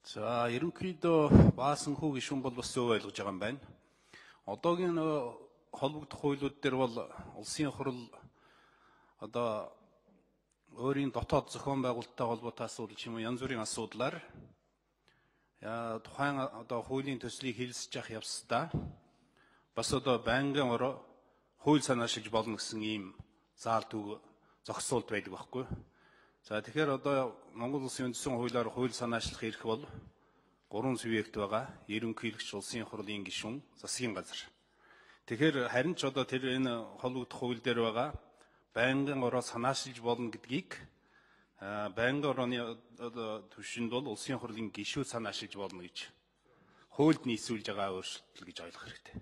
За ерөнхийдөө баасанхүү гишүүн бол бас зөв ойлгож байгаа юм байна. Одоогийн холбогдох хуулиуд дээр бол улсын хурал одоо өөрийн дотоод зохион байгуулалттай холбоотой асуудал ч юм уу янз бүрийн асуудлаар тухайн одоо хуулийн төслийг хэлэлцэж явах явцдаа бас одоо байнгын ороо хууль санаашилж болно гэсэн ийм заал төг зогсоолт байдаг байхгүй. За тэгэхээр одоо Монгол Улсын үндсэн хуулиар хууль санаачлах эрх бол 3 субъект байгаа. Ерөнхийлөгч, улсын хурлын гишүүн, засгийн газар. Тэгэхээр харин ч одоо тэр энэ холбогдох хууль дээр байгаа байнгын ороо санаачлж болно гэдгийг байнгын орооны түвшинд бол улсын хурлын гишүүд санаачлж болно гэж хуульд нийцүүлж байгаа өөрчлөлт гэж ойлгох хэрэгтэй.